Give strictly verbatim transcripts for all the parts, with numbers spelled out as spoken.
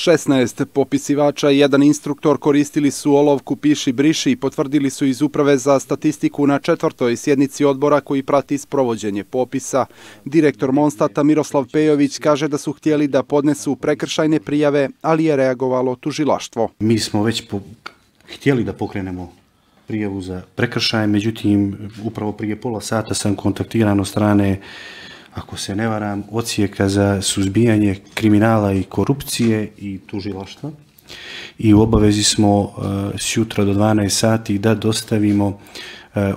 šesnaest popisivača i jedan instruktor koristili su olovku piši briši i potvrdili su iz Uprave za statistiku na četvrtoj sjednici odbora koji prati sprovođenje popisa. Direktor Monstata Miroslav Pejović kaže da su htjeli da podnesu prekršajne prijave, ali je reagovalo tužilaštvo. Mi smo već po... htjeli da pokrenemo prijavu za prekršaj, međutim, upravo prije pola sata sam kontaktiran od strane, ako se ne varam, odsjeka za suzbijanje kriminala i korupcije i tužilaštva. I u obavezi smo uh, sjutra do dvanaest sati da dostavimo uh,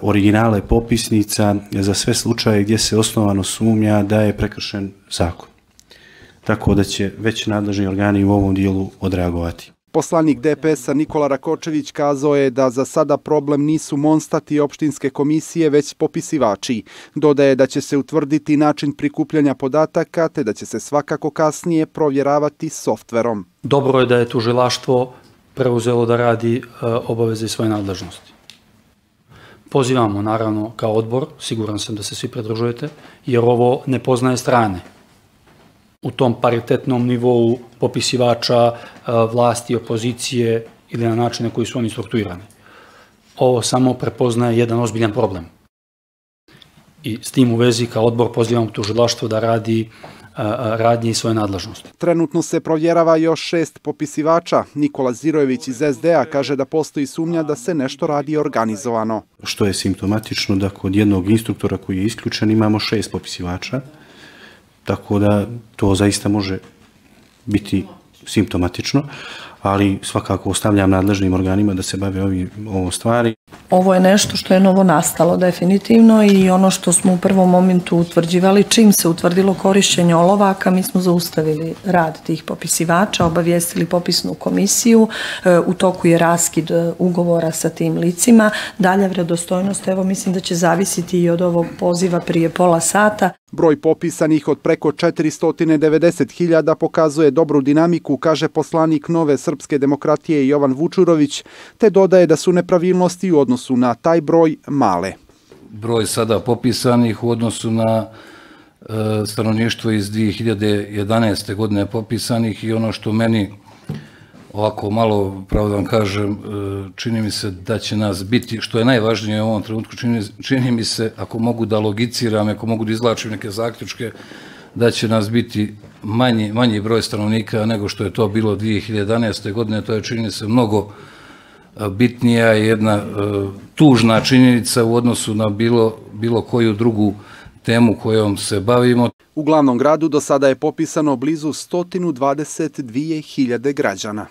originale popisnica za sve slučaje gdje se osnovano sumnja da je prekršen zakon. Tako da će već nadležni organi u ovom dijelu odreagovati. Poslanik D P S-a Nikola Rakočević kazao je da za sada problem nisu Monstat i opštinske komisije, već popisivači. Dodaje da će se utvrditi način prikupljanja podataka, te da će se svakako kasnije provjeravati softverom. Dobro je da je tužilaštvo preuzelo da radi e, obaveze i svoje nadležnosti. Pozivamo naravno kao odbor, siguran sam da se svi pridružujete, jer ovo ne poznaje strane. U tom paritetnom nivou popisivača, vlasti, opozicije ili na načine koji su oni strukturirani. Ovo samo prepoznaje jedan ozbiljan problem. I s tim u vezi kao odbor pozivamo tužilaštvo da radi radnje i svoje nadležnosti. Trenutno se provjerava još šest popisivača. Nikola Zirojević iz S D A kaže da postoji sumnja da se nešto radi organizovano. Što je simptomatično da kod jednog instruktora koji je isključen imamo šest popisivača. Tako da to zaista može biti simptomatično, ali svakako ostavljam nadležnim organima da se bave ovim, ovom stvari. Ovo je nešto što je novo nastalo definitivno i ono što smo u prvom momentu utvrđivali, čim se utvrdilo korišćenje olovaka, mi smo zaustavili rad tih popisivača, obavijestili popisnu komisiju, u toku je raskid ugovora sa tim licima. Dalja vredostojnost, evo mislim da će zavisiti i od ovog poziva prije pola sata. Broj popisanih od preko četiristo devedeset hiljada pokazuje dobru dinamiku, kaže poslanik Nove srpske demokratije Jovan Vučurović, te dodaje da su nepravilnosti u odnosu na taj broj male. Broj sada popisanih u odnosu na e, stanovništvo iz dvije hiljade jedanaeste. godine popisanih i ono što meni ovako malo, pravo da vam kažem, čini mi se da će nas biti, što je najvažnije u ovom trenutku, čini, čini mi se, ako mogu da logiciram, ako mogu da izvlačim neke zaključke, da će nas biti manji, manji broj stanovnika nego što je to bilo dvije hiljade jedanaeste. godine. To je, čini se, mnogo bitnija i jedna tužna činjenica u odnosu na bilo, bilo koju drugu temu kojom se bavimo. U glavnom gradu do sada je popisano blizu sto dvadeset dvije hiljade građana.